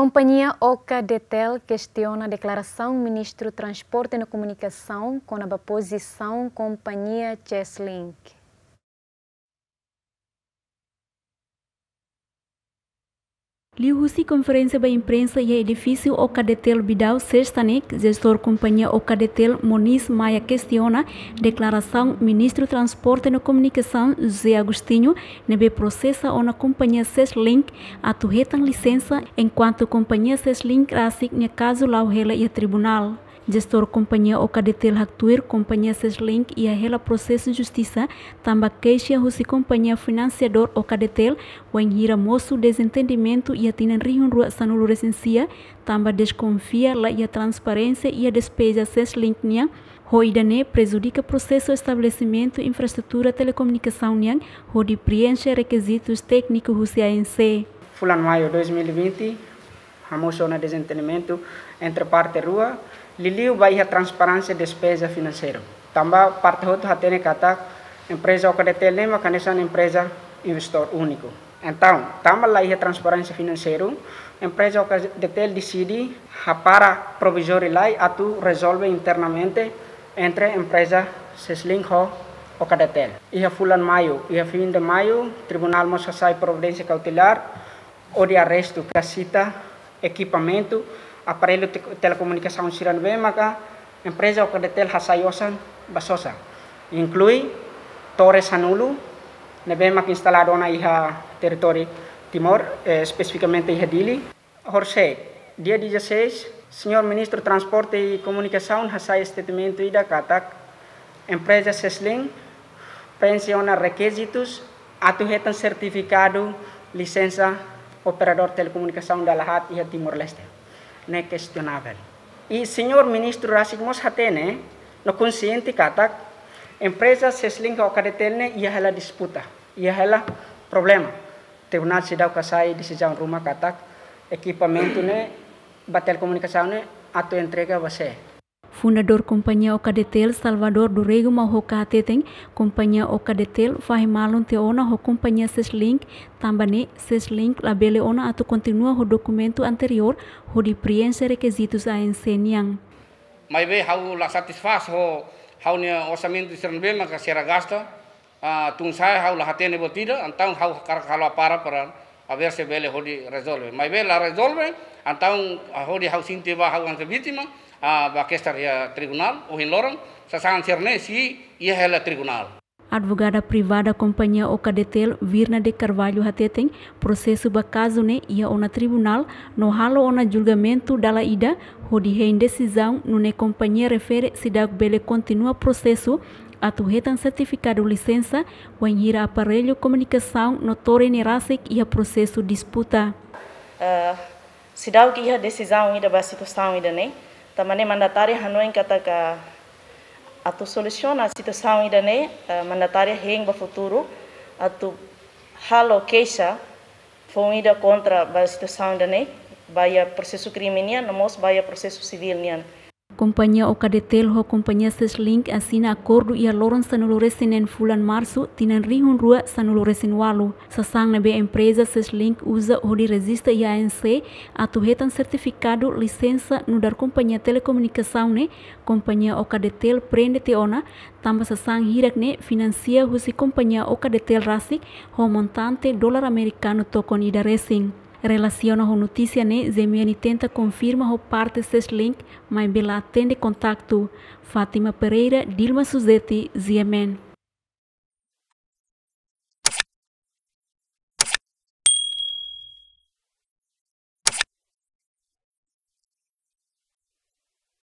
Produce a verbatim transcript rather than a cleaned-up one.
Kompañia Ocadetel kestiona deklarasaun Ministru Transporte no Komunikasaun kona-ba pozisaun kompañia Cheslink. Liuhusi konferénsia ba imprensa iha edifísiu Ocadetel Bidau, Sesta ne'e, jestór kompañia Ocadetel Moniz Maia kestiona deklarasaun Ministru Transporte no Komunikasaun José Agostinho ne'ebé prosesa ona kompañia Cheslink atu hetan lisensa, enkuantu kompañia Cheslink rasik nia kazu la'o hela iha tribunál. Jestór kompañia Ocadetel haktuir kompañia Cheslink iha hela prosesu justisa tanba keixa husi kompañia finansiadór Ocadetel, wainhira mosu dezentendimentu iha tinan rihun rua sanulu resin sia, tanba deskonfia la iha transparénsia iha despeza Cheslink nian, ho ida-ne'e prejudika prosesu estabelesimentu infraestrutura telekomunikasaun nian hodi prienxe rekizitus tékniku husi A N C. Fulan Maiu dois mil e vinte, hamosu ona dezentendimentu entre parte rua, liuliu ba iha transparénsia despeza finanseiru. Tanba parte hotu hatene katak empreza Ocadetel ne'e mak hanesan empreza investidór úniku. Entaun, tanba la iha transparénsia finanseiru, empreza Ocadetel deside hapara provizóriu lai atu rezolve internamente entre empreza Cheslink ho Ocadetel. Iha fulan Maiu, iha fin de Maiu, tribunál mós hasai providénsia kautelár hodi arrestu ka sita ekipamentu, aparellu te-, telekomunikasaun sira ne'ebé maka empreza Ocadetel hasai osan ba sosa, inklui tore sanulu ne'ebé maka instaladu ona iha territóriu Timor, eh, espesifikamente iha Dili. Horisehik, dia dezasseis, señór Ministru Transporte i Komunikasaun hasai statement ida katak empreza Cheslink prienxe ona rekizitus atu hetan sertifikadu lisensa operadór telekomunikasaun dala haat iha Timor-Leste. Ne'e kestionavel. I señór Ministru rasik mós hatene no konxiente katak empreza Cheslink ho Ocadetel ne'e iha hela disputa, iha hela problema. Tribunál seidauk hasai desizaun ruma katak ekipamentu ne'e ba telekomunikasaun ne'e atu entrega ba sé. Fundadór kompañia Ocadetel, Salvador do Rego Mauhoca hateten, kompañia Ocadetel fahe malu tiha ona ho kompañia Cheslink, tanba ne'e Cheslink labele ona atu kontinua ho dokumentu anteriór hodi prienxe rekizitus A N C nian. Maibé ha'u la satisfás ho ha'u-nia orsamentu sira ne'ebé maka sira gasta, ah, tun sa'e ha'u la hatene buat ida, entaun ha'u hakarak halo apara para haver se bele hodi rezolve. Maibé la rezolve, entaun, ah, hodi ha'u sente ba ha'u hanesan vítima, ah, ba kestaun iha tribunál, ohin loron, sasán sira-ne'e sei iha hela tribunál. Advogada privada kompañia Ocadetel, Virna de Carvalho hateten, prosesu ba kazu ne'e iha ona tribunál, no halo ona julgamentu dala ida, hodi hein desizaun nune'e kompañia refere seidauk bele kontinua prosesu atu hetan sertifikadu lisensa, wainhira aparellu komunikasaun no tore ne'e rasik iha prosesu disputa. Eh, seidauk iha desizaun ida ba situasaun ida-ne'e, tanba ne'e mandatária hanoin katak atu solusiona situasaun ida-ne'e, eh, mandatária hein ba futuru atu halo keixa foun ida kontra ba situasaun ida-ne'e, ba iha prosesu krime nian, no mós ba iha prosesu sivíl nian. Kompañia Ocadetel ho kompañia Cheslink asina akordu iha loron sanulu resin neen fulan Marsu, tinan rihun rua sanulu resin ualu. Sasán ne'ebé empreza Cheslink uza hodi rejista iha A N C atu hetan sertifikadu lisensa nu'udar kompañia telekomunikasaun ne'e, kompañia Ocadetel prende tiha ona, tanba sasán hirak ne'e finansia husi kompañia Ocadetel rasik ho montante dolar amerikanu tokon ida resin. Relasiona ho notísia ne'e, G M N tenta konfirma ho parte Cheslink, maibé la atende kontaktu. Fátima Pereira, Dilma Suzeti, G M N.